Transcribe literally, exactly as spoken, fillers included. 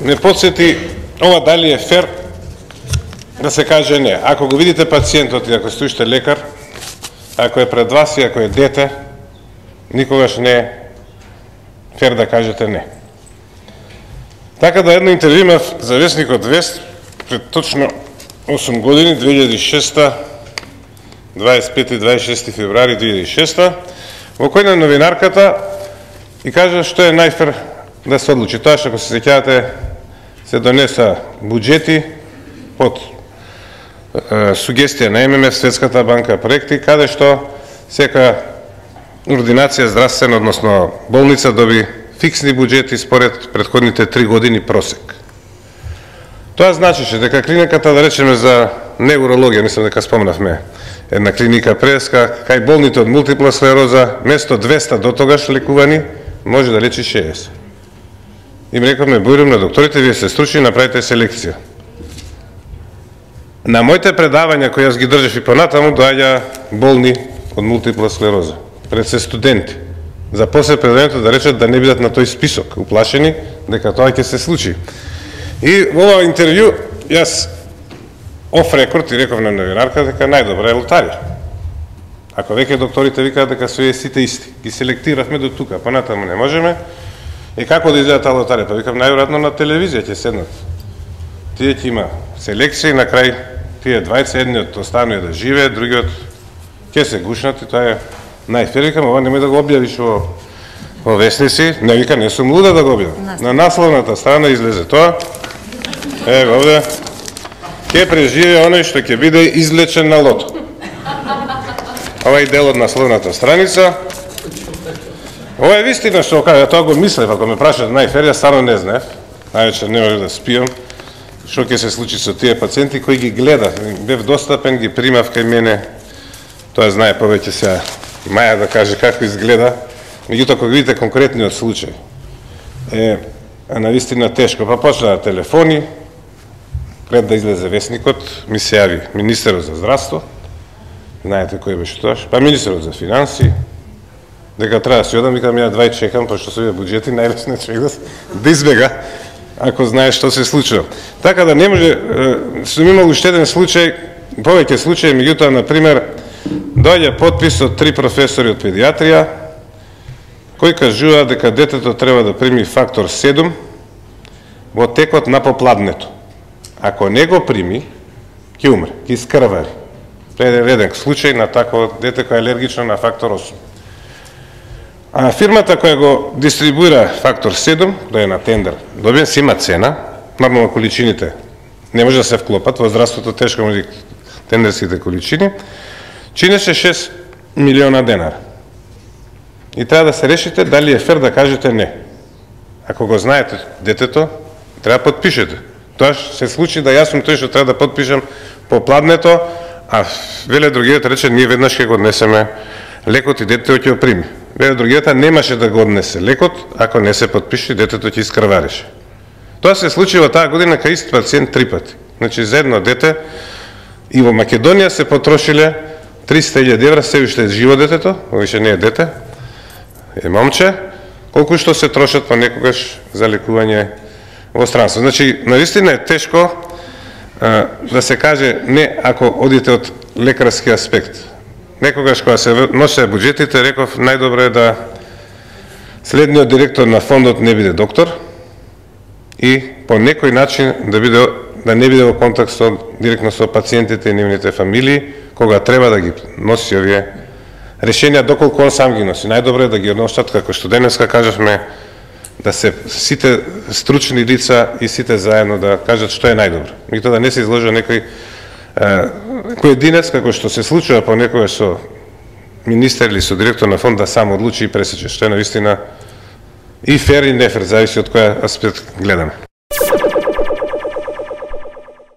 не подсети ова дали е фер да се каже не. Ако го видите пациентот и ако стоите лекар, ако е пред вас и ако е дете, никогаш не е фер да кажете не. Така да едно интервју имав за весникот Вест пред точно осум години, две илјади и шеста, дваесет и пети и дваесет и шести февруари две илјади и шеста, во кој на новинарката и кажа што е најфер да се одлучи. Тоа што, ако се сеќавате, се донеса буџети под е, сугестија на Ем Ем Еф, Светската банка, проекти, каде што сека ординација здравствена, односно болница, доби фиксни буџети според претходните три години просек. Тоа значише дека клиниката, да речеме за неврологија, мислам дека спомнавме една клиника преска, кај болните од мултипла склероза, место двеста до тогаш лекувани, може да лечи шеесет. Им рековме, бојрам на докторите, вие се стручни, направите селекција. На моите предавања кои јас ги држав и понатаму, доаѓа болни од мултипла склероза, пред се студенти. За после предавањето да речат да не бидат на тој список, уплашени дека тоа ќе се случи. И во ова интервју јас оф рекорд и реков на новинарка дека најдобра е лотарија. Ако веќе докторите викаат дека се сите исти, ги селектиравме до тука, понатаму не можеме. И како да изгледа таа лотарија? Па викам, најверојатно на телевизија ќе седнат. Тие ќе има селекција и на крај тие двајца, едниот останува да живее, другиот ќе се гушнат и тоа е најфер. Викам, ова немој да го објавиш во, во вестници. Не, вика, не сум луда да го објавам. На насловната страна излезе тоа. Ево овде. Ќе преживее оној што ќе биде излечен на лото. Ова е дел од насловната страница. Ова е вистина што кажа, тоа го мислев, ако ме прашат најфер, јас стварно не знаев. Највечер не може да спијам. Што ќе се случи со тие пациенти кои ги гледав. Бев достапен, ги примав кај мене. Тоа знае повеќе сега Маја да каже како изгледа. Меѓутоа, кога видите конкретниот случај, е навистина тешко. Па почна телефони, пред да излезе вестникот, ми се јави министерот за здравство, знаете кој беше тоаш, па министерот за финанси, дека треба да си одам, викам ја двај чекам, пошто се овие буџети, најлесно е човек да избега, ако знае што се случува. Така да не може, сум имал уште еден случај, повеќе случаи, меѓутоа, например, доаѓа подпис од три професори од педиатрија, кои кажуваат дека детето треба да прими фактор седум во текот на попладнето. Ако не го прими, ќе умре, ќе искрвари. Тоа е реден случај на такво дете кој е алергично на фактор осум. А фирмата која го дистрибуира фактор седум, да е на тендер, добиен си има цена, нормално количините не може да се вклопат, во здравството тешко може тендерските количини, чинеше шест милиона денара. И треба да се решите дали е фер да кажете не. Ако го знаете детето, треба да подпишете. Тоа се случи да јас сум тој што треба да подпишам по пладнето, а веле другиот рече ние веднаш ќе го однесеме лекот и детето ќе го прими. Веле другиот немаше да го однесе лекот ако не се подпише, детето ќе искрварише. Тоа се случи во таа година кај ист пациент три пати. Значи за едно дете и во Македонија се потрошиле триста илјади евра, се уште е живо детето, више не е дете, е момче, колку што се трошат понекогаш за лекување во странство. Значи, наистина е тешко а, да се каже не ако одите од лекарски аспект. Некогаш кога се носеа буџетите, реков најдобро е да следниот директор на фондот не биде доктор и по некој начин да биде да не биде во контакт со директно со пациентите и нивните фамилии, кога треба да ги носи овие решенија, доколку он сам ги носи. Најдобро е да ги носат, како што денеска кажавме, да се сите стручни лица и сите заедно да кажат што е најдобро. Меѓутоа да не се изложи некој поединец, како што се случува понекогаш со министер или со директор на фонд да сам одлучи и пресече, што е навистина и фер и нефер, зависи од која аспект гледаме.